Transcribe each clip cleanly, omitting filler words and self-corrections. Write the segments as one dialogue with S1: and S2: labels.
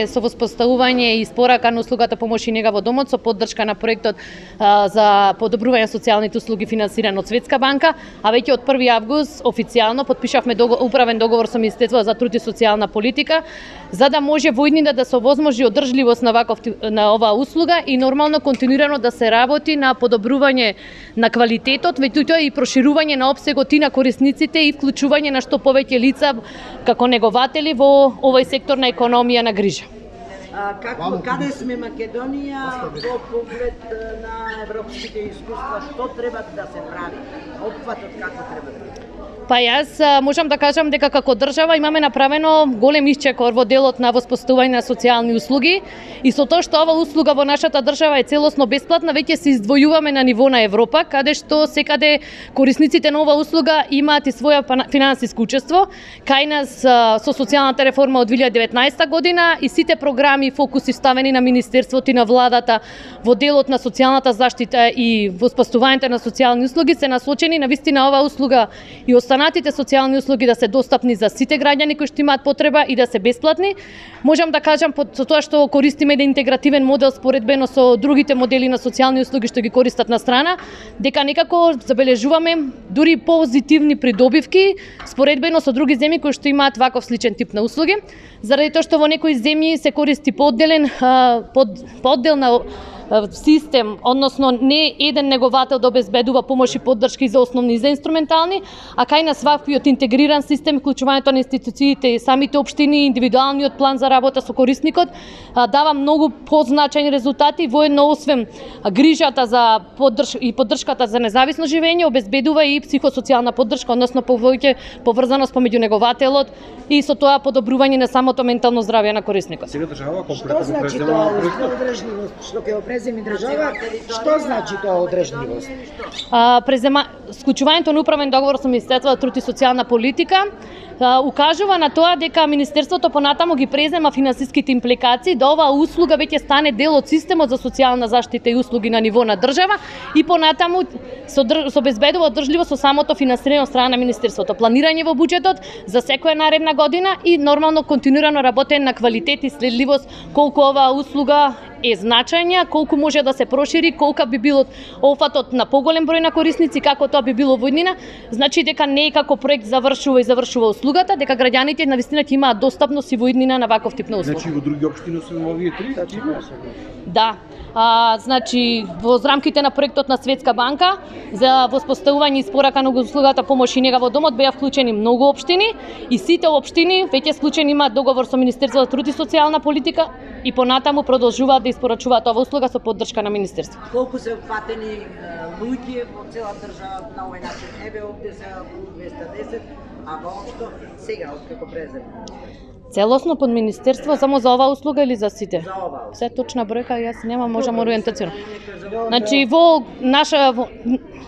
S1: Со воспоставување и испорака на услугата помош и нега во домот со поддршка на проектот за подобрување на социјалните услуги финансиран од Светска банка, а веќе од 1 август официјално подпишавме управен договор со Министерството за труд и социјална политика, за да може во иднина да се овозможи одржливост на оваа услуга и нормално континуирано да се работи на подобрување на квалитетот, меѓутоа и проширување на опсегот и на корисниците и вклучување на што повеќе лица како негователи во овој сектор на економија на грижа.
S2: Каде сме Македонија во поглед на европските искуства, што треба да се прави? Опфатот како треба да биде?
S1: Па јас можам да кажам дека како држава имаме направено голем исчекор во делот на воспоставување на социјални услуги и со тоа што ова услуга во нашата држава е целосно бесплатна, веќе се издвојуваме на ниво на Европа, каде што секаде корисниците на ова услуга имаат и своја финансиско учество. Кај нас со социјалната реформа од 2019 година и сите програми и фокуси ставени на Министерството и на владата во делот на социјалната заштита и воспоставувањето на социјални услуги се насочени на вистина оваа услуга и останатите социјални услуги да се достапни за сите граѓани кои што имаат потреба и да се бесплатни. Можам да кажам со тоа што користиме еден интегративен модел споредбено со другите модели на социјални услуги што ги користат на страна, дека некако забележуваме дури позитивни придобивки споредбено со други земји кои што имаат ваков сличен тип на услуги, заради тоа што во некои земји се користи поодделна систем, односно не еден неговател да обезбедува помош и поддршки за основни и за инструментални, а кај нас ваквиот интегриран систем, вклучувањето на институциите и самите општини, индивидуалниот план за работа со корисникот дава многу позначајни резултати, воедно освен грижата за поддршката за независно живење, обезбедува и психосоцијална поддршка, односно повеќе поврзаност помеѓу негователот и со тоа подобрување на самото ментално здравје на корисникот.
S3: Сега држава
S2: Што значи тоа одржливост? Што ќе преземи држава, што значи тоа одржливост?
S1: Склучувањето на управен договор со Министерството за труд и социјална политика укажува на тоа дека Министерството понатаму ги презема финансиските импликации, да оваа услуга веќе стане дел од системот за социјална заштита и услуги на ниво на држава и понатаму се обезбедува одржливост со самото финансирање од страна на Министерството. Планирање во буџетот за секоја наредна година и нормално континуирано работење на квалитет и следливост колку оваа услуга е значајна, колку може да се прошири, колку би било опфатот на поголем број на корисници, како тоа би било во иднина. Значи дека не е како проект завршува услугата, дека граѓаните навистина ќе имаат достапност и во иднина на ваков тип на услуга.
S3: Значи во други општини освен овие три?
S1: Да. Значи во рамките на проектот на Светска банка за воспоставување и испорака на услугата помош и нега во домот беа вклучени многу општини и сите општини веќе склучени имаат договор со Министерството за труд и социјална политика и понатаму продолжуваат да испорачуваат оваа услуга со поддршка на Министерството.
S2: Колку се опфатени луѓе во цела држава на овој начин? Еве овде се 210, а воопшто сега откако презема?
S1: Целосно под Министерство само за оваа услуга или за сите?
S2: За оваа.
S1: Се точна бројка јас немам, можам ориентацијно. Значи во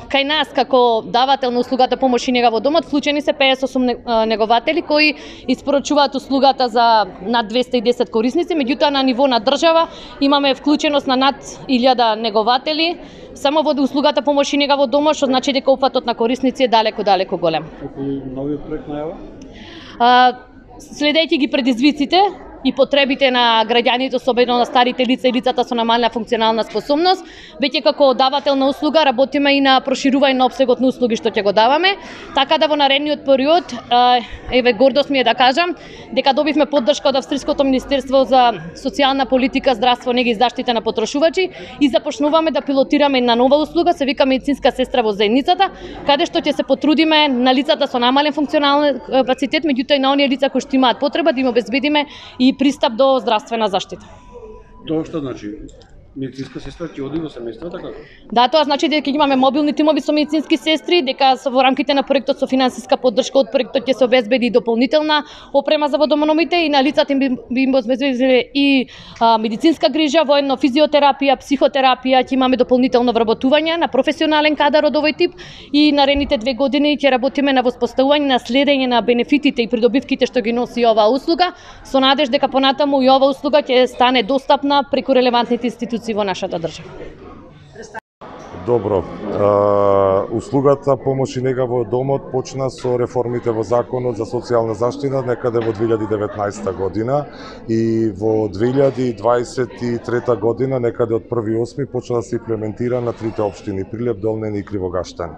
S1: кај нас како давател на услугата помош и нега во домот вклучени се 58 негователи кои испорачуваат услугата за над 210 корисници, меѓутоа на ниво на држава имаме вклученост на над 1000 негователи само во услугата помош и нега во домот, што значи дека опфатот на корисници е далеку голем.
S3: Околу новиот проект најава?
S1: Следејќи ги предизвиците и потребите на граѓаните, особено на старите лица и лицата со намалена функционална способност, веќе како давател на услуга работиме и на проширување на опсегот на услуги што ќе го даваме, така да во наредниот период, еве гордост ми е да кажам, дека добивме поддршка од Австриското Министерство за социјална политика, здравство, нега и заштита на потрошувачи и започнуваме да пилотираме една нова услуга, се вика медицинска сестра во заедницата, каде што ќе се потрудиме на лицата со намален функционален капацитет, меѓутоа и на оние лица кои што имаат потреба да им обезбедиме и пристап до здравствена заштита.
S3: Тоа што значи? Медицинска сестра ќе оди во семејството како?
S1: Да, тоа значи дека имаме мобилни тимови со медицински сестри, дека во рамките на проектот со финансиска поддршка од проектот ќе се обезбеди и дополнителна опрема за водомономите и на лицата би им обезбедиле и медицинска грижа, воедно физиотерапија, психотерапија, ќе имаме дополнително вработување на професионален кадар од овој тип и наредните 2 години ќе работиме на воспоставување на следење на бенефитите и придобивките што ги носи оваа услуга, со надеж дека понатаму и оваа услуга ќе стане достапна преку релевантните институции во нашата држава.
S4: Добро. Услугата помош и нега во домот почна со реформите во Законот за социјална заштита некаде во 2019 година и во 2023 година некаде од 1.8 почна да се имплементира на трите општини Прилеп, Долнен и Кривогаштан.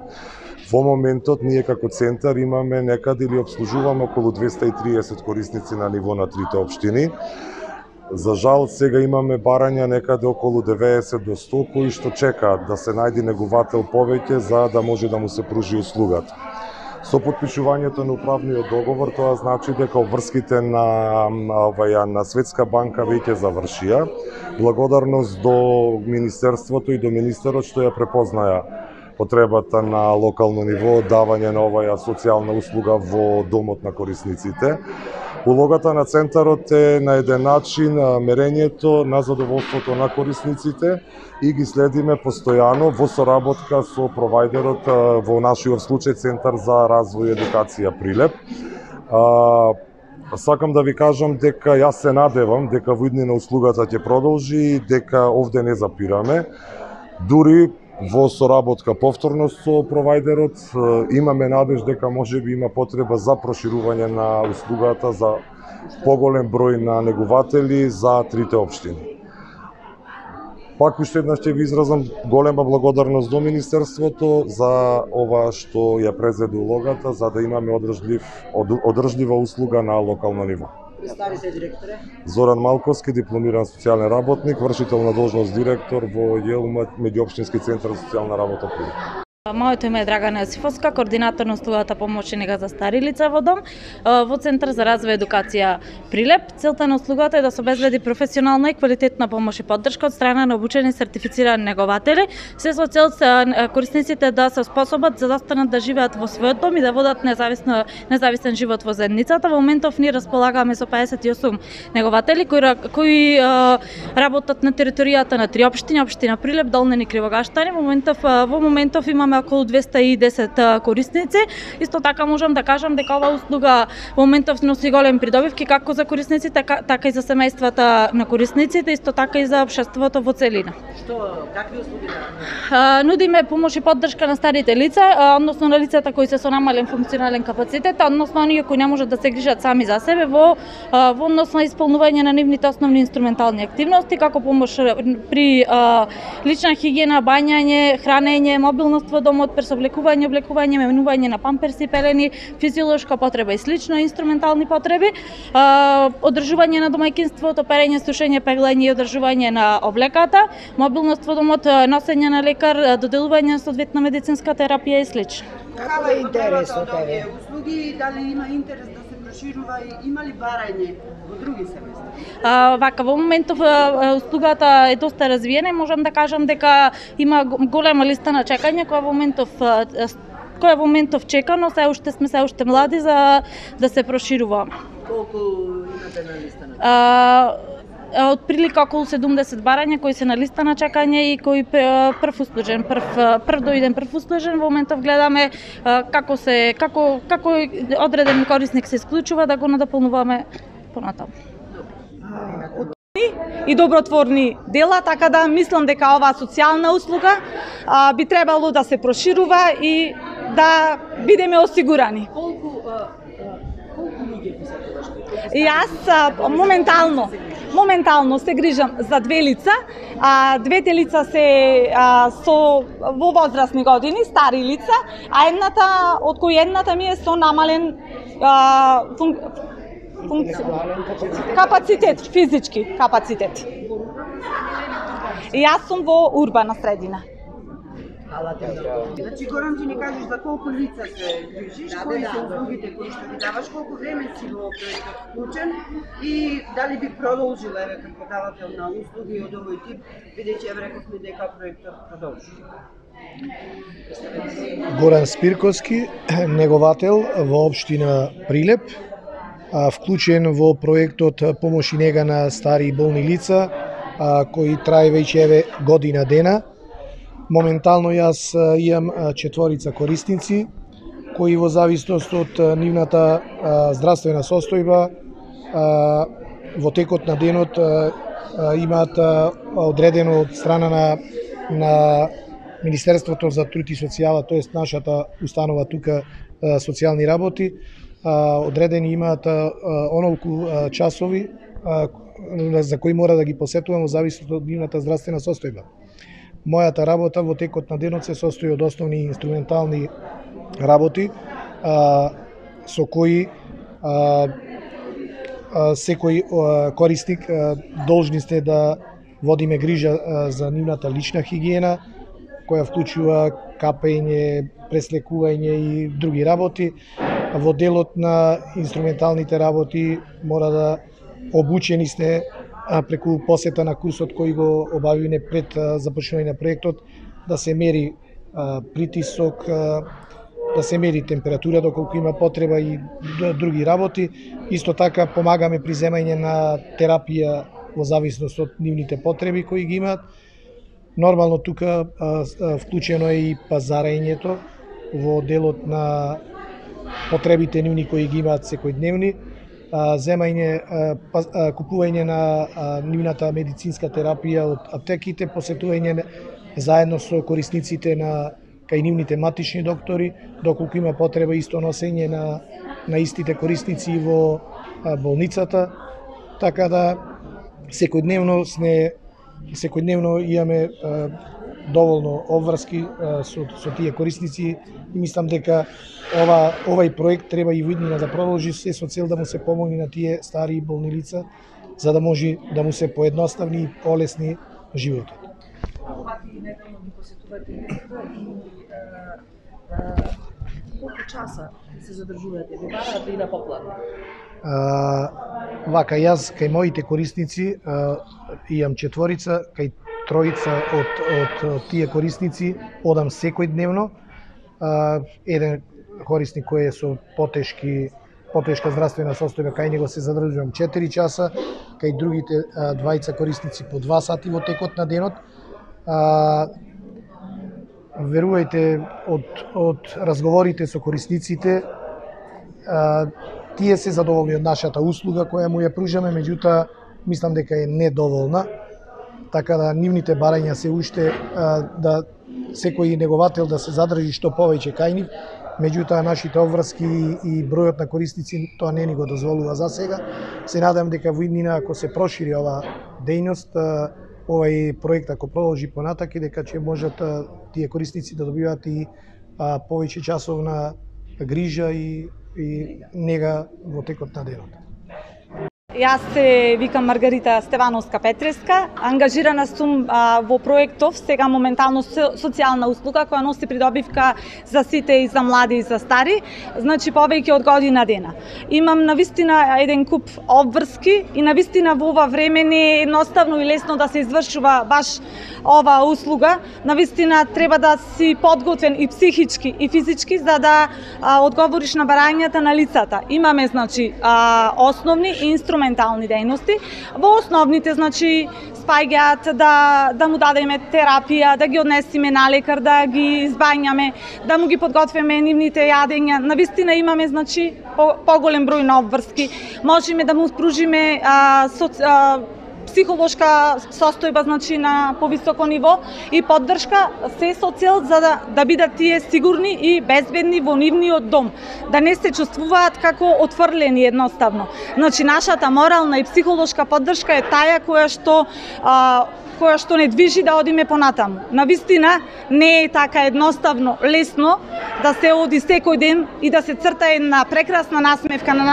S4: Во моментот ние како центар имаме некаде или обслужуваме околу 230 корисници на ниво на трите општини. За жал, сега имаме барања некаде околу 90 до 100 кои што чекаат да се најде негувател повеќе за да може да му се пружи услугата. Со потпишувањето на управниот договор тоа значи дека обврските на Светска банка веќе завршија. Благодарност до Министерството и до министерот што ја препознаја потребата на локално ниво давање на оваа социјална услуга во домот на корисниците. Улогата на центарот е на еден начин мерењето на задоволството на корисниците и ги следиме постојано во соработка со провајдерот, во нашиот случај Центар за развој и едукација Прилеп. Сакам да ви кажам дека јас се надевам дека во иднина услугата ќе продолжи и дека овде не запираме. Дури во соработка повторно со провајдерот имаме надеж дека можеби има потреба за проширување на услугата за поголем број на негуватели за трите општини. Пак уште еднаш ќе ви изразам голема благодарност до Министерството за ова што ја презеде улогата за да имаме одржлива услуга на локално ниво.
S2: Представите директоре.
S4: Зоран Малковски, дипломиран социјален работник, вршител на должност директор во ЈЕЛМ меѓуопштински центар за социјална работа Прилеп.
S5: Моето име е Драгана Јосифовска, координатор на услугата помош и нега за стари лица во дом во Центар за развој и едукација Прилеп. Целта на услугата е да се обезбеди професионална и квалитетна помош и поддршка од страна на обучени и сертифицирани негователи, се со цел корисниците да се способат за да останат да живеат во својот дом и да водат независен живот во заедницата. Во моментов ние располагаме со 58 негователи кои работат на територијата на три општини, општина Прилеп, Долнен и Кривогаштан. Во моментов имаме околу 210 корисници. Исто така можам да кажам дека ова услуга во моментов носи голем придобивки како за корисниците, така и за семејствата на корисниците, исто така и за општеството во целина.
S2: Какви услуги
S5: нудиме помош и поддршка на старите лица, односно на лицата кои се со намален функционален капацитет, односно оние кои не можат да се грижат сами за себе во однос на исполнување на нивните основни инструментални активности, како помош при лична хигиена, бањање, хранење, мобилност во домот, пресоблекување, облекување, менување на памперси, пелени, физиолошка потреба и слично, инструментални потреби, одржување на домаќинството, перење, сушење, пеглење и одржување на облеката, мобилност во домот, носење на лекар, доделување на соодветна медицинска терапија и слично.
S2: Каква е интересот од овие услуги, дали има интерес да се проширува и има ли барање во други семејства?
S5: Вака, во моментов услугата е доста развиена, можам да кажам дека има голема листа на чекање која во моментов чека, но се уште млади за да се прошируваме.
S2: Колку имате на листа на чекање?
S5: Од прилика околу 70 барања кои се на листа на чекање и кои прв дојден прв услужен. Во моментов гледаме како одреден корисник се исклучува да го надополнуваме понатаму.
S6: И добротворни дела, така да мислам дека оваа социјална услуга би требало да се проширува и да бидеме осигурани.
S2: Колку луѓе се тоа?
S6: Јас моментално се грижам за две лица. Двете лица се во возрастни години, стари лица, а од кои едната ми е со намален капацитет, физички капацитет. Јас сум во урбана средина.
S2: Значи, Горан, ти ни кажеш за колку лица се грижиш, кои се услугите кои што ги даваш, колку време си во проектот вклучен и дали би продолжил како давател на услуги од овој тип, бидејќи рековме дека проектот продолжи.
S7: Горан Спирковски, неговател во општина Прилеп, вклучен во проектот помош и нега на стари и болни лица, кои трае веќе година дена. Моментално јас имам 4 корисници, кои во зависност од нивната здравствена состојба во текот на денот имаат одредено од страна на Министерството за труд и социјала, тоест нашата установа тука социјални работи, одредени имаат онолку часови за кои мора да ги посетувам во зависност од нивната здравствена состојба. Мојата работа во текот на денот се состои од основни инструментални работи со кои секој корисник должни сте да водиме грижа за нивната лична хигиена, која вклучува капење, преслекување и други работи. Во делот на инструменталните работи мора да обучени сте преку посета на курсот кој го обавивме пред започнување на проектот, да се мери притисок, да се мери температура доколку има потреба и други работи. Исто така помагаме при земање на терапија во зависност од нивните потреби кои ги имаат. Нормално тука вклучено е и пазарењето во делот на потребите нивни кои ги имаат секојдневни, земање, купување на нивната медицинска терапија од аптеките, посетување заедно со корисниците кај нивните матични доктори, доколку има потреба исто носење на истите корисници во болницата, така да секојдневно имаме доволно обврски со тие корисници и мислам дека овај проект треба и во иднина да продолжи се со цел да му се помогне на тие стари и болни лица, за да може да му се поедноставни и полесни животот.
S8: Неделно ги посетувате и колку часа се задржувате? Ви барате и на поплата?
S7: Вака, јас кај моите корисници имам 4, кај 3 од тие корисници одам секојдневно. Еден корисник кој е со потешка здравствена состојба, кај него се задржувам 4 часа, кај другите 2 корисници по 2 сати во текот на денот. Верувајте, од разговорите со корисниците, тие се задоволни од нашата услуга која му ја пружаме, меѓутоа мислам дека е недоволна, така да нивните барања се уште да секој неговател да се задржи што повеќе кај нив, меѓутоа нашите обврски и бројот на корисници тоа не ни го дозволува за сега. Се надам дека во иднина, ако се прошири ова дејност, овај проект ако продолжи понатака, дека ќе можат тие корисници да добиваат и повеќе часовна грижа и нега во текот на денот.
S6: Јас се викам Маргарита Стевановска-Петреска, ангажирана сум во проектов сега моментално социјална услуга која носи придобивка за сите и за млади и за стари, значи повеќе од година дена. Имам навистина еден куп обврски и навистина во ова време не е едноставно и лесно да се извршува баш ова услуга. Навистина треба да си подготвен и психички и физички за да одговориш на барањата на лицата. Имаме значи основни инструментални дејности. Во основните, значи, спаѓаат да му дадеме терапија, да ги однесеме на лекар, да ги избањаме, да му ги подготвиме нивните јадења. Навистина имаме, значи, поголем број на обврски. Можеме да му спружиме психолошка состојба, значи на повисоко ниво и поддршка, се со цел за да бидат тие сигурни и безбедни во нивниот дом, да не се чувствуваат како отфрлени едноставно. Значи нашата морална и психолошка поддршка е таја која што не движи да одиме понатаму. Навистина не е така едноставно, лесно да се оди секој ден и да се црта една прекрасна насмевка на